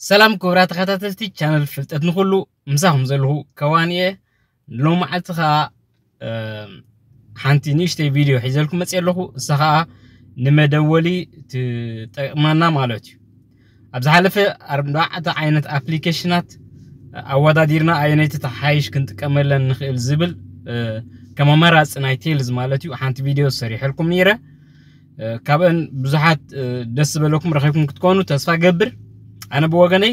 ሰላም ክቡራት ተኸታተልቲ ቻነል ፍልጠት ንኹሉ፣ ምሳኹም ዘለኹ ከዋን እየ። ሎም መዓልቲ ኸዓ ሓንቲ ንእሽተይ ቪድዮ ሒዘልኩም መፅእ ኣለኹ። እሳ ኸዓ ንመደወሊ ትጠቅመና ማለት እዩ። ኣብ ዝሓለፈ ኣርባዕተ ዓይነት ኣፕሊኬሽናት ኣወዳዲርና ኣየነይቲ ተሓይሽ ክንጥቀመለን ንኽእል ዝብል ከም ኣማራፂ ናይ ቴልዝ ማለት እዩ ሓንቲ ቪድዮ ሰሪሐልኩም ነይረ። ካብአን ብዙሓት ደስ ዝበለኩም ረኺብኩም ክትኮኑ ተስፋ ገብር። ኣነ ብወገነይ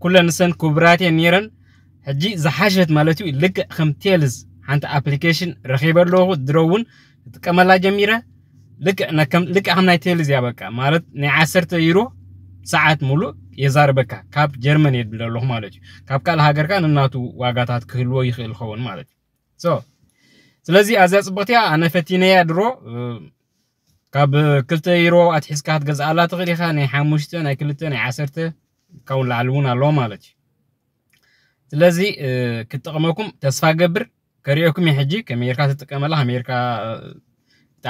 ኩለን ንሰን ክቡራት እየን ነይረን። ሕጂ ዝሓሸት ማለት እዩ ልክዕ ከም ቴልዝ ሓንቲ ኣፕሊኬሽን ረኺበ ኣለኹ። ድሮ እውን ክጥቀመላ ጀሚረ። ልክዕ ከም ናይ ቴልዝ እያ። በቃ ማለት ናይ ዓሰርተ ዩሮ ሰዓት ሙሉእ የዛርበካ። ካብ ጀርመን እየ ዝብል ኣለኹ ማለት እዩ። ካብ ካልእ ሃገር ከኣ ንናቱ ዋጋታት ክህልዎ ይኽእል ይኸውን ማለት እዩ። ስለዚ ኣዝያ ፅብቕቲ እያ። ኣነ ፈቲነያ ድሮ። ካብ ክልተ ዩሮ ኣትሒዝካ ክትገዝኣላ ትኽእል ኢኻ። ናይ ሓሙሽተ፣ ናይ ክልተ፣ ናይ ዓሰርተ ካብኡ ንላዕሊ እውን ኣለዎ ማለት እዩ። ስለዚ ክትጠቕመኩም ተስፋ ገብር። ከሪኦኩም እየ ሕጂ ከመይ ጌርካ ትጥቀመላ፣ ከመይ ጌርካ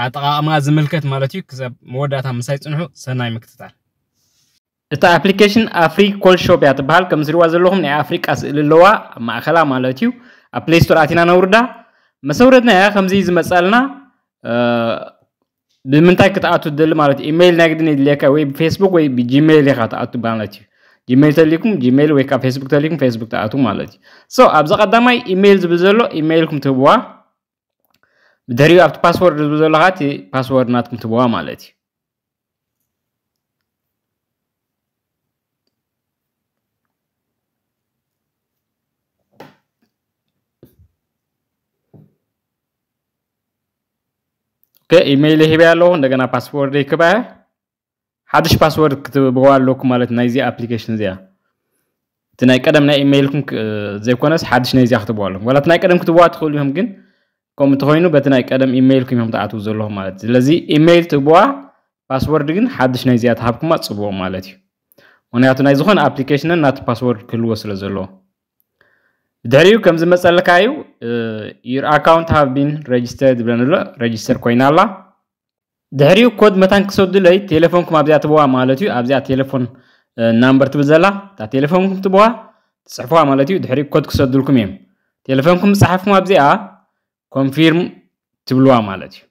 ኣጠቓቕማ ዝምልከት ማለት እዩ። ክሳብ መወዳእታ ምሳይ ፅንሑ። ሰናይ ምክትታል። እታ ኣፕሊኬሽን ኣፍሪ ኮል ሾፕ እያ ትበሃል። ከም ዝሪዋ ዘለኹም ናይ ኣፍሪቃ ስእሊ ኣለዋ ኣብ ማእኸላ ማለት እዩ። ኣብ ፕሌይ ስቶር ኣቲና ነውርዳ። መሰውረድና እያ ከምዚ ዝመፃልና። ብምንታይ ክትኣቱ ትደሊ ማለት እዩ? ኢሜይል ናይ ግድን የድልየካ፣ ወይ ብፌስቡክ ወይ ብጂሜይል ኢኻ ትኣቱ ማለት እዩ። ጂሜይል ተሊኩም ጂሜይል፣ ወይ ካብ ፌስቡክ ተሊኩም ፌስቡክ ትኣቱ ማለት እዩ። ሶ ኣብዚ ቀዳማይ ኢሜይል ዝብል ዘሎ ኢሜይልኩም ትህብዋ። ብድሕሪኡ ኣብቲ ፓስወርድ ዝብል ዘሎ ኸዓ እቲ ፓስወርድ ናትኩም ትህብዋ ማለት እዩ። ኦኬ፣ ኢሜይል ሂበያ ኣለኹ። እንደገና ፓስወርድ ይክበያ። ሓድሽ ፓስወርድ ክትህብዋ ኣለኩም ማለት ናይዚ ኣፕሊኬሽን እዚኣ። እቲ ናይ ቀደም ናይ ኢሜይልኩም ዘይኮነስ ሓድሽ ናይዚኣ ክትህብዋ ኣለኩም። ዋላ እቲ ናይ ቀደም ክትህብዋ ትኽእሉ ኢኹም፣ ግን ከምኡ እንተኾይኑ በቲ ናይ ቀደም ኢሜይልኩም እዮም ትኣትዉ ዘለኹም ማለት እዩ። ስለዚ ኢሜይል ትህብዋ፣ ፓስወርድ ግን ሓድሽ ናይዚኣ ትሃብኩማ ጽቡቕ ማለት እዩ። ምክንያቱ ናይ ዝኾነ ኣፕሊኬሽንን ናቱ ፓስወርድ ክህልዎ ስለ ዘለዎ። ብድሕሪኡ ከም ዝመጸልካ እዩ፣ your account have been registered ይብለኒ ኣሎ። ረጅስተር ኮይና ኣላ። ድሕሪኡ ኮድ መታን ክሰዱለይ ቴሌፎንኩም ኣብዚኣ ትብዋ ማለት እዩ። ኣብዚኣ ቴሌፎን ናምበር ትብል ዘላ እታ ቴሌፎንኩም ትብዋ ትፅሕፍዋ ማለት እዩ። ድሕሪኡ ኮድ ክሰዱልኩም እዮም። ቴሌፎንኩም ዝፀሓፍኩም ኣብዚኣ ኮንፊርም ትብልዋ ማለት እዩ።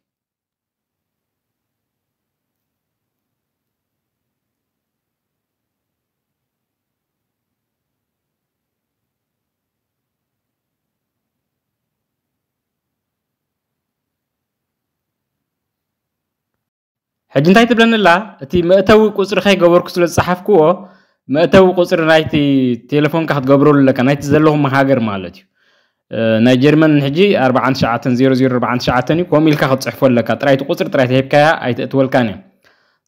ሕጂ እንታይ ትብለኒ ኣላ? እቲ መእተዊ ቁፅሪ ከይገበርኩ ስለ ዝፀሓፍክዎ መእተዊ ቁፅሪ ናይቲ ቴሌፎንካ ክትገብረሉ ኣለካ፣ ናይቲ ዘለኹም ሃገር ማለት እዩ። ናይ ጀርመን ሕጂ ኣርባዓን ትሽዓተን ዜሮ ዜሮ ኣርባዓን ትሽዓተን እዩ። ከምኡ ኢልካ ክትፅሕፎ ኣለካ። ጥራይ እቲ ቁፅሪ ጥራይ ተሂብካያ ኣይተእትወልካን እያ።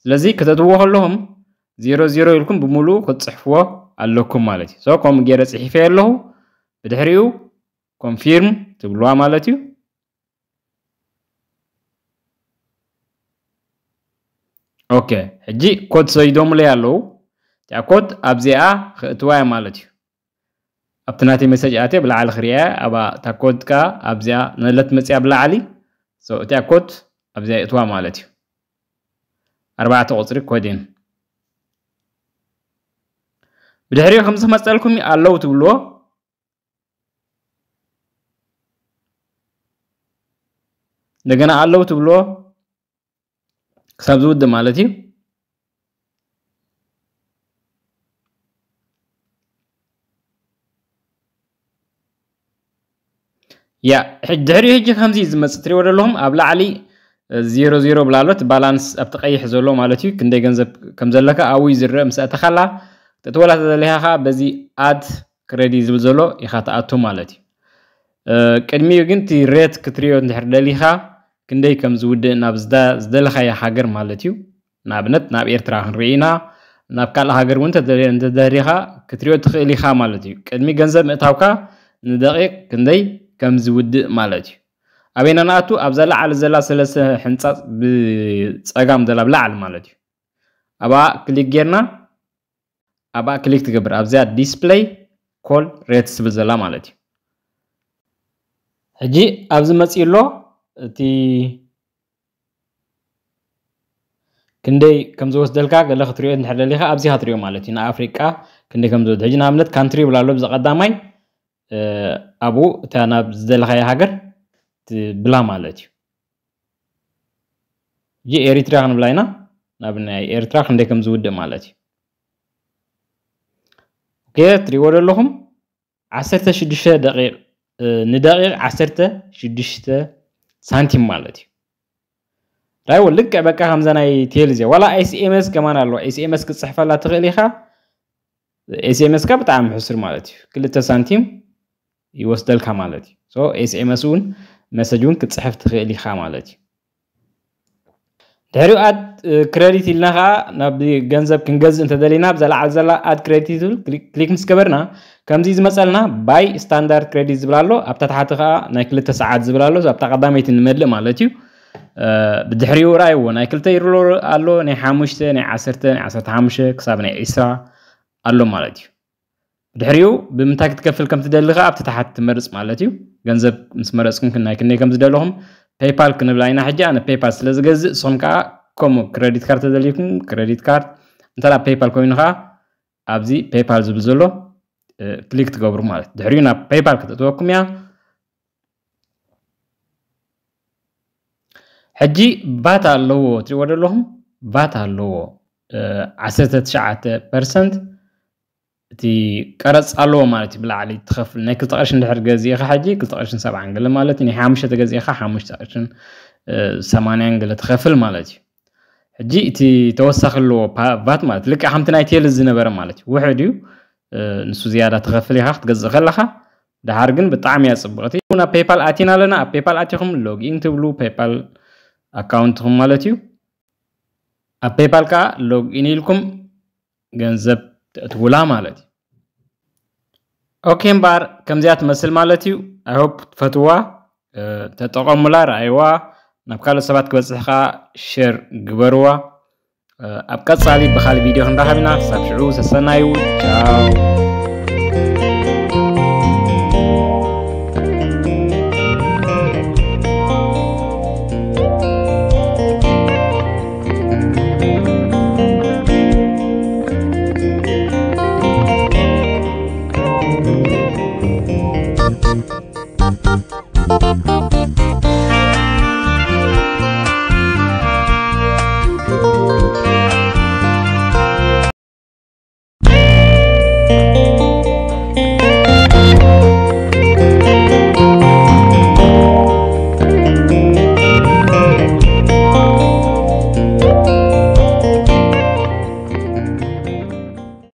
ስለዚ ከተእትዎ ከለኹም ዜሮ ዜሮ ኢልኩም ብምሉኡ ክትፅሕፍዎ ኣለኩም ማለት እዩ። ሶ ከምኡ ገይረ ፅሒፈ ኣለኹ። ብድሕሪኡ ኮንፊርም ትብልዋ ማለት እዩ። ኦኬ፣ ሕጂ ኮድ ሰይዶምለይ ኣለዉ። እቲኣ ኮድ ኣብዚኣ ክእትዋ እያ ማለት እዩ። ኣብቲ ናተይ መሰጅ ኣትየ ብላዕሊ ክርእያ እያ። ኣብኣ እታ ኮድ ከኣ ኣብዚኣ ነለት መፅያ ብላዕሊ። ሶ እቲኣ ኮድ ኣብዚኣ ይእትዋ ማለት እዩ። ኣርባዕተ ቁፅሪ ኮድ እየን። ብድሕሪኡ ከምዚ ክመፀልኩም ኣለዉ ትብልዎ። እንደገና ኣለዉ ትብልዎ ክሳብ ዝውድእ ማለት እዩ። ያ ድሕሪኡ ሕጂ ከምዚ እዩ ዝመፅእ። ትሪእዎ ዘለኹም ኣብ ላዕሊ ዜሮ ዜሮ ብላ ኣሎ። እቲ ባላንስ ኣብቲ ቀይሕ ዘሎ ማለት እዩ። ክንደይ ገንዘብ ከም ዘለካ ኣብኡ እዩ ዝረአ። ምስ ኣተኻላ ክትእትወላ ተደሊኻ ከዓ በዚ ኣድ ክረዲ ዝብል ዘሎ ኢኻ ትኣቱ ማለት እዩ። ቅድሚኡ ግን እቲ ሬት ክትሪኦ እንድሕር ደሊኻ ክንደይ ከም ዝውድእ ናብ ዝደለኻዮ ሃገር ማለት እዩ። ንኣብነት ናብ ኤርትራ ክንርኢ ኢና። ናብ ካልእ ሃገር እውን እንተደሊኻ ክትሪኦ ትኽእል ኢኻ ማለት እዩ። ቅድሚ ገንዘብ ምእታውካ ንደቂቕ ክንደይ ከም ዝውድእ ማለት እዩ። ኣበይና ንኣቱ? ኣብዛ ላዕሊ ዘላ ሰለስተ ሕንጻጽ ብጸጋም ዘላ ብላዕሊ ማለት እዩ። ኣብኣ ክሊክ ጌርና ኣብኣ ክሊክ ትገብር ኣብዚኣ ዲስፕለይ ኮል ሬትስ ትብል ዘላ ማለት እዩ። ሕጂ ኣብዚ መፂኡ ኣሎ። እቲ ክንደይ ከም ዝወስደልካ ገለ ክትሪኦ እንድሕር ደሊኻ ኣብዚ ክትሪኦ ማለት እዩ። ንኣፍሪቃ ክንደይ ከም ዝወድ ሕጂ ንኣብነት ካንትሪ ይብላ ኣሎ ብዚ ቀዳማይ ኣብኡ እታ ናብ ዝደለኻዮ ሃገር ትብላ ማለት እዩ። ሕጂ ኤሪትራ ክንብላ ኢና። ናብ ናይ ኤርትራ ክንደይ ከም ዝውድእ ማለት እዩ። ኦኬ፣ ትሪእዎ ዘለኹም ዓሰርተ ሽዱሽተ ደቂቕ፣ ንደቂቕ ዓሰርተ ሽዱሽተ ሳንቲም ማለት እዩ። ራይዎ ልክዕ በቃ ከምዛ ናይ ቴል እዚኣ ዋላ ኤስኤምኤስ ከማን ኣለዋ። ኤስኤምኤስ ክትፅሕፈላ ትኽእል ኢኻ። ኤስኤምኤስ ካ ብጣዕሚ ሕሱር ማለት እዩ። ክልተ ሳንቲም ይወስደልካ ማለት እዩ። ኤስኤምኤስ እውን መሰጅ እውን ክትፅሕፍ ትኽእል ኢኻ ማለት እዩ። ድሕሪኡ ኣድ ክረዲት ኢልና ከዓ ናብ ገንዘብ ክንገዝእ እንተደሊና ብዛ ላዓል ዘላ ኣድ ክረዲት ትብል ክሊክ ምስ ገበርና ከምዚ ዝመፀልና ባይ ስታንዳርድ ክረዲት ዝብል ኣሎ። ኣብታ ታሕቲ ከዓ ናይ ክልተ ሰዓት ዝብል ኣሎ። ኣብታ ቀዳመይቲ ንመልእ ማለት እዩ። ብድሕሪኡ ርኣይዎ ናይ ክልተ ዩሮ ኣሎ፣ ናይ ሓሙሽተ፣ ናይ ዓሰርተ፣ ናይ ዓሰርተ ሓሙሽተ ክሳብ ናይ ዒስራ ኣሎ ማለት እዩ። ድሕሪኡ ብምንታይ ክትከፍል ከም ትደሊ ከዓ ኣብቲ ታሓት ትመርፅ ማለት እዩ። ገንዘብ ምስ መረፅኩም ናይ ክንደይ ከም ዝደለኹም ፔይፓል ክንብላ ኢና። ሕጂ ኣነ ፔይፓል ስለ ዝገዝእ ንስኹም ከዓ ከምኡ ክረዲት ካርድ ተደልዩኩም ክረዲት ካርድ እንተ ፔይፓል ኮይኑ ከዓ ኣብዚ ፔይፓል ዝብል ዘሎ ክሊክ ትገብሩ ማለት ድሕሪኡ ናብ ፔይፓል ክተእትወኩም እያ። ሕጂ ቫት ኣለዎ ትሪእዎ ዘለኹም ቫት ኣለዎ ዓሰርተ ትሽዓተ ፐርሰንት እቲ ቀረፅ ኣለዎ ማለት እዩ። ብላዕሊ ትኸፍል ናይ ክልተ ቅርሺ እንድሕር ገዚእኻ ሕጂ ክልተ ቅርሽን ሰብዓን ገለ ማለት እዩ። ናይ ሓሙሽተ ተገዚእኻ ሓሙሽተ ቅርሽን ሰማንያን ገለ ትኸፍል ማለት እዩ። ሕጂ እቲ ተወሳኺ ኣለዎ ቫት ማለት ልክዕ ከምቲ ናይ ቴል ዝነበረ ማለት እዩ። ውሕድ እዩ። ንሱ ዝያዳ ትኸፍል ኢኻ ክትገዝእ ከለኻ። ደሓር ግን ብጣዕሚ እያ ፅብቕቲ። ናብ ፔይፓል ኣቲና ኣለና። ኣብ ፔይፓል ኣቲኹም ሎግኢን ትብሉ ፔይፓል ኣካውንትኹም ማለት እዩ። ኣብ ፔይፓል ከዓ ሎግኢን ኢልኩም ገንዘብ ተእትውላ ማለት እዩ። ኦኬ እምበኣር ከምዚኣ ትመስል ማለት እዩ። ኣይሆፕ ትፈትዋ፣ ተጠቐሙላ፣ ረኣይዋ፣ ናብ ካልኦት ሰባት ክበፅሕ ከዓ ሸር ግበርዋ። ኣብ ቀፃሊ ብካሊእ ቪድዮ ክንራኸብ ኢና። ክሳብ ሽዑ ሰሰናዩ ቻው።